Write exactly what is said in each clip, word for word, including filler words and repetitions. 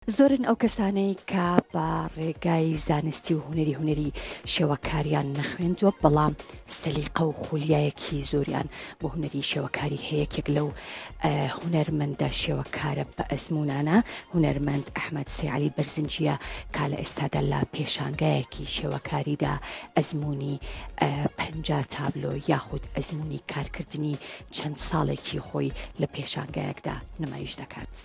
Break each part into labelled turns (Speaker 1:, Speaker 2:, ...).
Speaker 1: زۆرن ئەو کەسانەی کە بە ڕێگای زانستی و هونەری هونەری شێوەکاریان نەخوێندووە، بەڵام سەلیقە و خولیایەکی زۆریان بۆ هونەری شێوەکاری هەیە. یەکێک لەو هونەرمەندە شێوەکارە بە ئەزمونانە هونەرمەند ئەحمەد سەیعەلی بەرزنجیە کە لە ئێستادا لە پێشانگایەکی شێوەکاریدا ئەزمموی پەنجا تابلۆ یاخود ئەزمموی کارکردنی چەند ساڵێکی خۆی لە پێشانگایەکدا نمایش دەکات.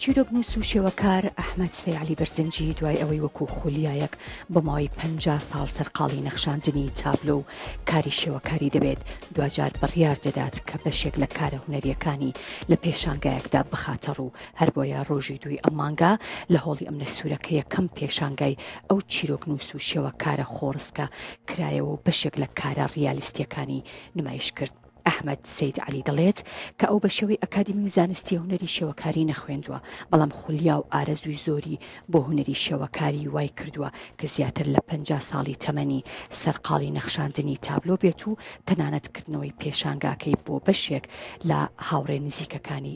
Speaker 1: چیرۆکنووس و شێوەکار ئەحمەد سەیعەلی بەرزنجی دوای ئەوەی وەکو خولیایەک بۆ ماوەی پەنجا ساڵ سەرقاڵی نەخشاندنی تابلۆ و کاری شێوەکاری دەبێت، دواجار بڕیار دەدات کە بەشێک لە کارە هونەریەکانی لە پێشانگایەکدا بخاتە ڕوو. هەر بۆیە ڕۆژی دووی ئەم مانگە لە هۆڵی ئەمنە سوورەکە یەکەم پێشانگای ئەو چیرۆکنووس و شێوەکارە خۆڕسکە کرایەوە و بەشێک لە کارە ڕیالیستیەکانی نمایش کرد. ئەحمەد سەید عەلی دەڵێت کە ئەو بە شێوەی ئەکادیمی و زانستی هونەری شێوەکاری نەخوێندووە، بەڵام خولیا و ئارەزووی زۆری بۆ هونەری شێوەکاری وای کردووە کە زیاتر لە پەنجا ساڵی تەمەنی سەرقاڵی نەخشاندنی تابلۆ بێت و تەنانەت کردنەوەی پێشانگاکەی بۆ بەشێک لە هاوڕێ نزیکەکانی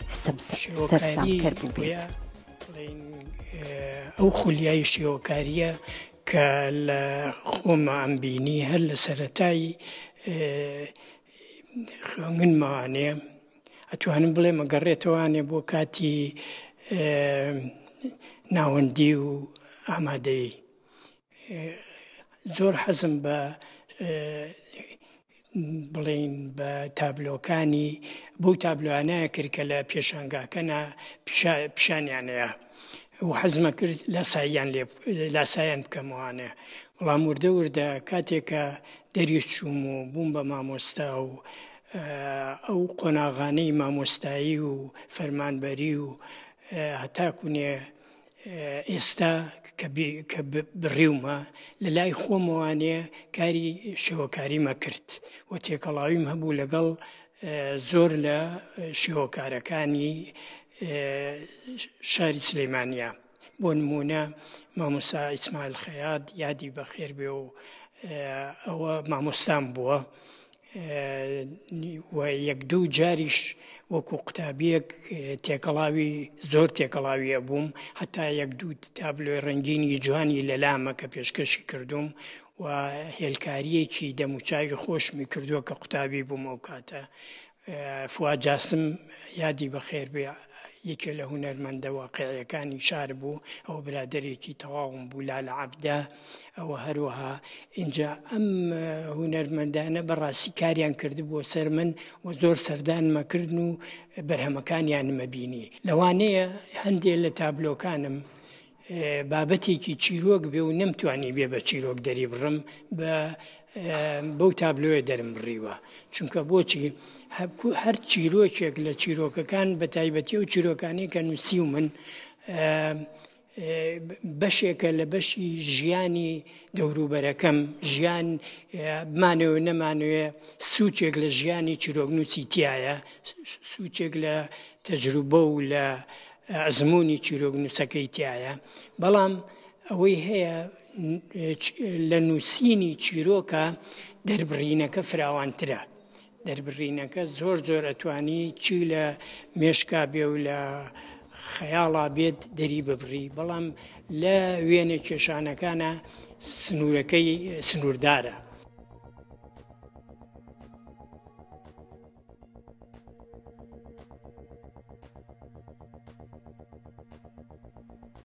Speaker 1: سەرسامکەر بوو بێت.
Speaker 2: ئەو خولیای شێوەکاریە کە لە خۆمە ئەمبینی هەر لە سەرەتای خوێندنمانێ، ئەتوانم بڵێم ئەگەڕێتەوانێ بۆ کاتی ناوەندی و ئامادەیی. زۆر حەزم بە بڵین بە تابلۆکانی بەو تابلۆانەیە کرد کە لە پێشانگاکەنا پیشانیانەیە و حەزمە کرد لاساییان لێ لاسایان بکەمەوانێ. بەڵام وردە وردە کاتێکە دەریش چووم و بووم بە مامۆستا و ئەو قۆناغانەی مامۆستایی و فەرمانبەری و هەتاکوونێ ئێستا کە بڕیومە لە لای خۆمەوانێ کاری شێوەکاریمە کرد و تێکەڵاویم هەبوو لەگەڵ زۆر لە شێوەکارەکانی شاری سلەیمانیا. بۆ نمونە مامۆستا ئیسماعیل خەیات یادی بەخێر بێ و ئەوە مامۆستام بووە و یەک دوو جاریش وەکو قوتابیەک تێکەڵاوی زۆر تێکەڵاویە بووم، هەتا یەک دوو تابلۆی ڕەنگینی جوانی لەلامە کە پێشکەشی کردوم و هێلکاریەکی دەموچاوی خۆشمی کردووە کە قوتابی بووم ئەو کاتە. فواد جاسم یادی بەخێر بێ یەکێ لە هونەرمەندە واقعیەکانی شار بوو، ئەو برادێکی تەواوم بوو لالە عەبدە. ئەوە هەروەها اینجا ئەم هونەرمەندانە بەڕاستی کاریان کردبووە سەر من و زۆر سەردانمە کردن و بەرهەمەکانیانمە بینی. لەوانەیە هەندێک لە تابلۆکانم بابەتێکی چیرۆک بێ و نەمتوانی بێ بە چیرۆک دەری بڕم بە بەو تابلۆیە دەرم بڕیوە، چونکە بۆچی هەر چیرۆکێک لە چیرۆکەکان بە تایبەتی و چیرۆکانی کە نووسی و من بەشێکە لە بەشی ژیانی دەوروبەرەکەم، ژیان بمانەوە نەمانەوێ سوچێک لە ژیانی چیرۆکنووسی تایە، سوچێک لە تەجروبە و لە ئەزمموی چیرۆکنووسەکەی تایە. بەڵام ئەوەی هەیە لە نووسینی چیرۆکە دەربڕینەکە فراوانترە، دەربڕینەکە زۆر زۆر ئەتوانی چی لە مێشکا بێ و لە خەیاڵا بێت دەری ببڕی، بەڵام لە وێنە کێشانەکانە سنوورەکەی سنووردارە.